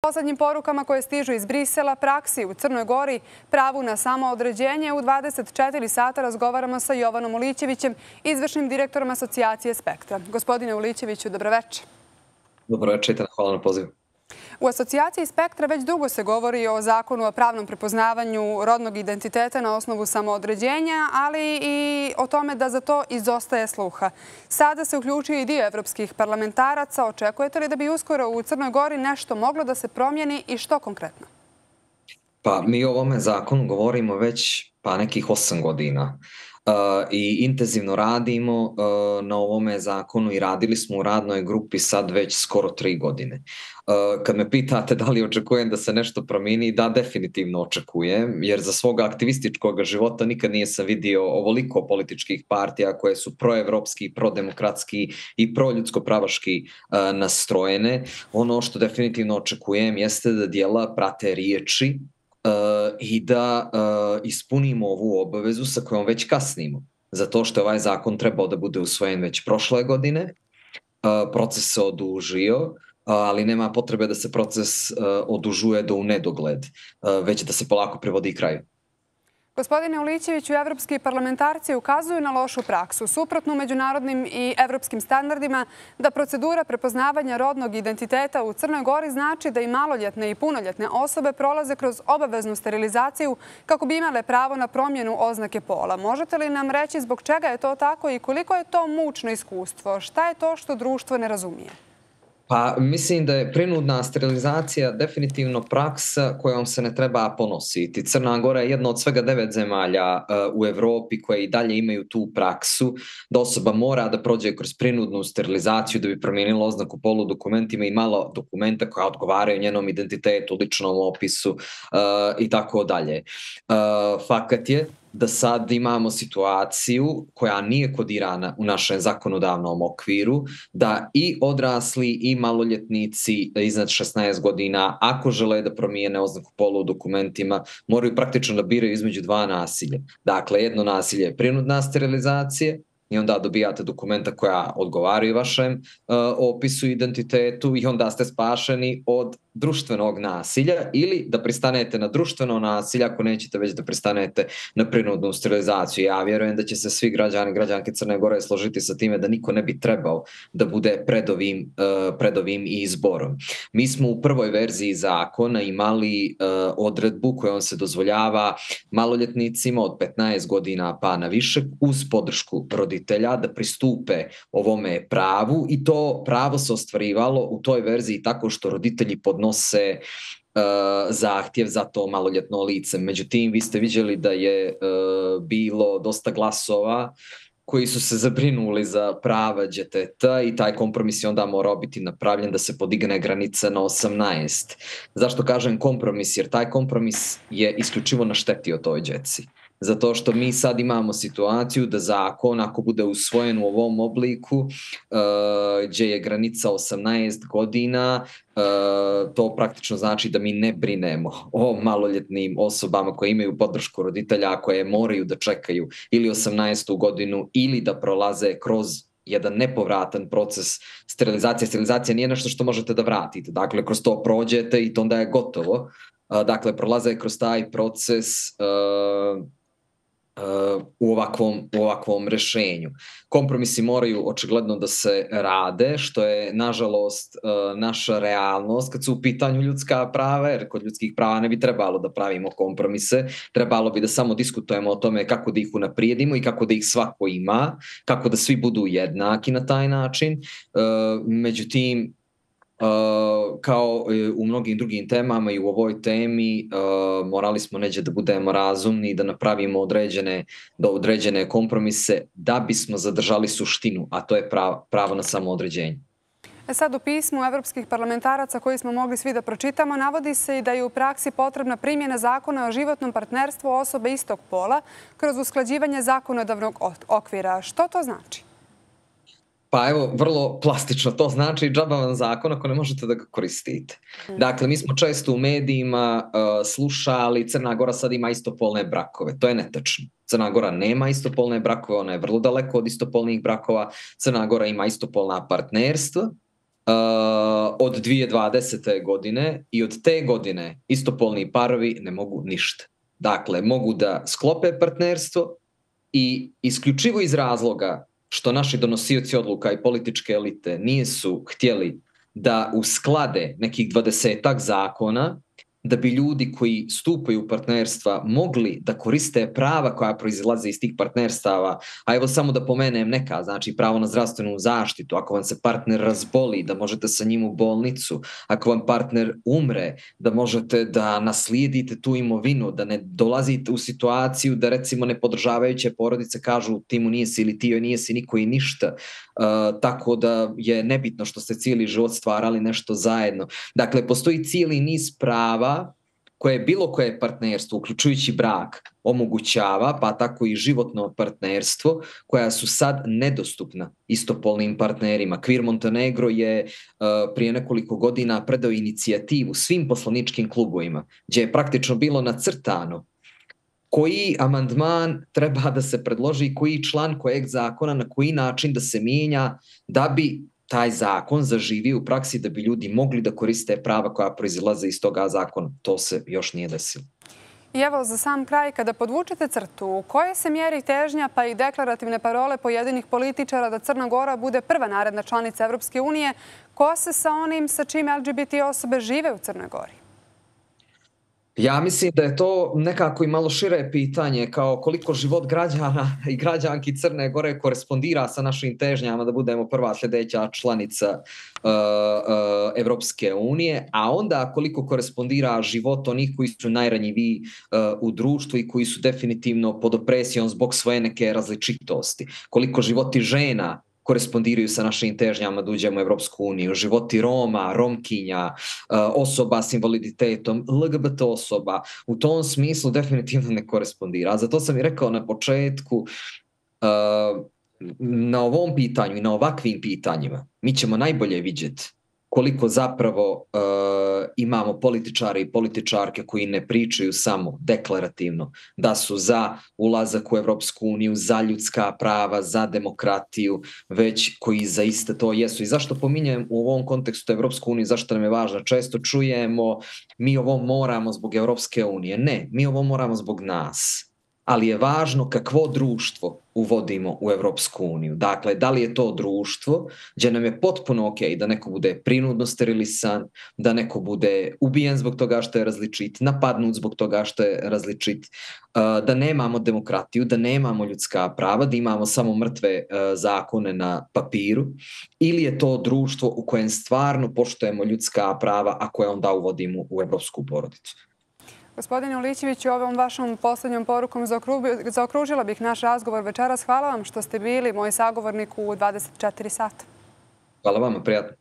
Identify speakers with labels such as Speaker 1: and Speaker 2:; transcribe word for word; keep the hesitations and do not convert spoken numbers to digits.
Speaker 1: Poslednjim porukama koje stižu iz Brisela, praksi u Crnoj Gori, pravu na samoodređenje, u dvadeset četiri sata razgovaramo sa Jovanom Ulićevićem, izvršnim direktorom Asocijacije Spektra. Gospodine Ulićeviću, dobroveče.
Speaker 2: Dobroveče, hvala na pozivu.
Speaker 1: U Asocijaciji Spektra već dugo se govori o zakonu o pravnom prepoznavanju rodnog identiteta na osnovu samoodređenja, ali i o tome da za to izostaje sluha. Sada se uključuje i dio evropskih parlamentaraca. Očekujete li da bi uskoro u Crnoj Gori nešto moglo da se promijeni i što konkretno?
Speaker 2: Pa mi o ovome zakonu govorimo već pa nekih osam godina. Uh, i intenzivno radimo uh, na ovome zakonu i radili smo u radnoj grupi sad već skoro tri godine. Uh, kad me pitate da li očekujem da se nešto promijeni, da, definitivno očekujem, jer za svoga aktivističkog života nikad nije sam vidio ovoliko političkih partija koje su proevropski, prodemokratski i proljudsko-pravaški uh, nastrojene. Ono što definitivno očekujem jeste da djela prate riječi Uh, i da uh, ispunimo ovu obavezu sa kojom već kasnimo. Zato što je ovaj zakon trebao da bude usvojen već prošle godine. Uh, proces se odužio, uh, ali nema potrebe da se proces uh, odužuje do u nedogled, uh, već da se polako privodi kraju.
Speaker 1: Gospodine Ulićeviću, evropski parlamentarci ukazuju na lošu praksu, suprotnu međunarodnim i evropskim standardima, da procedura prepoznavanja rodnog identiteta u Crnoj Gori znači da i maloljetne i punoljetne osobe prolaze kroz obaveznu sterilizaciju kako bi imale pravo na promjenu oznake pola. Možete li nam reći zbog čega je to tako i koliko je to mučno iskustvo? Šta je to što društvo ne razumije?
Speaker 2: Pa mislim da je prinudna sterilizacija definitivno praksa kojom se ne treba ponositi. Crna Gora je jedna od svega devet zemalja uh, u Evropi koje i dalje imaju tu praksu da osoba mora da prođe kroz prinudnu sterilizaciju da bi promijenila oznaku polu dokumentima i malo dokumenta koja odgovaraju njenom identitetu, ličnom opisu uh, i tako dalje. Uh, fakat je da sad imamo situaciju koja nije kodirana u našem zakonodavnom okviru, da i odrasli i maloljetnici iznad šesnaest godina, ako žele da promijene oznaku pola u dokumentima, moraju praktično da biraju između dva nasilja. Dakle, jedno nasilje je prinudna sterilizacija i onda dobijate dokumenta koja odgovaraju vašem uh, opisu i identitetu i onda ste spašeni od društvenog nasilja ili da pristanete na društveno nasilje ako nećete već da pristanete na prinudnu sterilizaciju. Ja vjerujem da će se svi građani i građanke Crne Gore složiti sa time da niko ne bi trebao da bude pred ovim, uh, pred ovim izborom. Mi smo u prvoj verziji zakona imali uh, odredbu kojom se dozvoljava maloljetnicima od petnaest godina pa na više uz podršku roditelja da pristupe ovome pravu i to pravo se ostvarivalo u toj verziji tako što roditelji podnose uh, zahtjev za to maloljetno lice. Međutim, vi ste vidjeli da je uh, bilo dosta glasova koji su se zabrinuli za prava djeteta i taj kompromis je onda morao biti napravljen da se podigne granica na osamnaest. Zašto kažem kompromis? Jer taj kompromis je isključivo naštetio toj djeci. Zato što mi sad imamo situaciju da zakon, ako bude usvojen u ovom obliku, uh, gdje je granica osamnaest godina, uh, to praktično znači da mi ne brinemo o maloljetnim osobama koje imaju podršku roditelja, koje moraju da čekaju ili osamnaestu godinu ili da prolaze kroz jedan nepovratan proces sterilizacije. Sterilizacija nije nešto što možete da vratite. Dakle, kroz to prođete i to onda je gotovo. Uh, dakle, prolaze kroz taj proces uh, u ovakvom, u ovakvom rešenju. Kompromisi moraju očigledno da se rade, što je nažalost naša realnost kad su u pitanju ljudska prava, jer kod ljudskih prava ne bi trebalo da pravimo kompromise, trebalo bi da samo diskutujemo o tome kako da ih unaprijedimo i kako da ih svako ima, kako da svi budu jednaki na taj način. Međutim, Uh, kao u mnogim drugim temama i u ovoj temi uh, morali smo neđe da budemo razumni i da napravimo određene, da određene kompromise da bismo zadržali suštinu, a to je pravo, pravo na samoodređenje.
Speaker 1: Sad u pismu evropskih parlamentaraca koji smo mogli svi da pročitamo navodi se i da je u praksi potrebna primjena zakona o životnom partnerstvu osobe istog pola kroz usklađivanje zakonodavnog okvira. Što to znači?
Speaker 2: Pa evo, vrlo plastično, to znači džaba vam zakon ako ne možete da ga koristite. Dakle, mi smo često u medijima uh, slušali Crna Gora sad ima istopolne brakove. To je netačno. Crna Gora nema istopolne brakove, ona je vrlo daleko od istopolnih brakova. Crna Gora ima istopolna partnerstva, od dvije tisuće dvadesete. godine i od te godine istopolni parovi ne mogu ništa. Dakle, mogu da sklope partnerstvo i isključivo iz razloga što naši donosioci odluka i političke elite nisu htjeli da usklade nekih dvadesetak zakona, da bi ljudi koji stupaju u partnerstva mogli da koriste prava koja proizilaze iz tih partnerstava, a evo samo da pomenem neka, znači pravo na zdravstvenu zaštitu, ako vam se partner razboli, da možete sa njim u bolnicu, ako vam partner umre, da možete da naslijedite tu imovinu, da ne dolazite u situaciju da recimo nepodržavajuće porodice kažu ti mu nisi ili ti joj nisi niko i ništa, uh, tako da je nebitno što ste cijeli život stvarali nešto zajedno. Dakle, postoji cijeli niz prava koje bilo koje partnerstvo, uključujući brak, omogućava, pa tako i životno partnerstvo, koja su sad nedostupna istopolnim partnerima. Queer Montenegro je uh, prije nekoliko godina predao inicijativu svim poslaničkim klubovima, gdje je praktično bilo nacrtano koji amandman treba da se predloži, koji član kojeg zakona, na koji način da se mijenja, da bi taj zakon zaživi u praksi, da bi ljudi mogli da koriste prava koja proizilaze iz toga zakona. To se još nije desilo.
Speaker 1: I evo za sam kraj, kada podvučete crtu, u kojoj se mjeri težnja pa i deklarativne parole pojedinih političara da Crna Gora bude prva naredna članica Evropske unije, ko se sa onim sa čim L G B T osobe žive u Crnoj Gori?
Speaker 2: Ja mislim da je to nekako i malo šire pitanje, kao koliko život građana i građanki Crne Gore korespondira sa našim težnjama da budemo prva sljedeća članica uh, uh, Evropske unije, a onda koliko korespondira život onih koji su najranjiviji uh, u društvu i koji su definitivno pod opresijom zbog svoje neke različitosti. Koliko životi žena korespondiraju sa našim težnjama da uđemo u Evropsku uniju, životi Roma, Romkinja, osoba s invaliditetom, L G B T osoba, u tom smislu definitivno ne korespondira. A zato sam i rekao na početku, na ovom pitanju i na ovakvim pitanjima mi ćemo najbolje vidjeti koliko zapravo uh, imamo političare i političarke koji ne pričaju samo deklarativno da su za ulazak u Evropsku uniju, za ljudska prava, za demokratiju, već koji zaista to jesu. I zašto pominjem u ovom kontekstu Evropsku uniju, zašto nam je važno? Često čujemo mi ovo moramo zbog Evropske unije. Ne, mi ovo moramo zbog nas. Ali je važno kakvo društvo uvodimo u Evropsku uniju. Dakle, da li je to društvo gdje nam je potpuno ok da neko bude prinudno sterilisan, da neko bude ubijen zbog toga što je različit, napadnut zbog toga što je različit, da nemamo demokratiju, da nemamo ljudska prava, da imamo samo mrtve zakone na papiru, ili je to društvo u kojem stvarno poštujemo ljudska prava, a koje onda uvodimo u evropsku porodicu.
Speaker 1: Gospodine Ulićeviću, ovom vašom posljednjom porukom zaokružila bih naš razgovor večeras. Hvala vam što ste bili moj sagovornik u dvadeset četiri sata.
Speaker 2: Hvala vama, prijatno.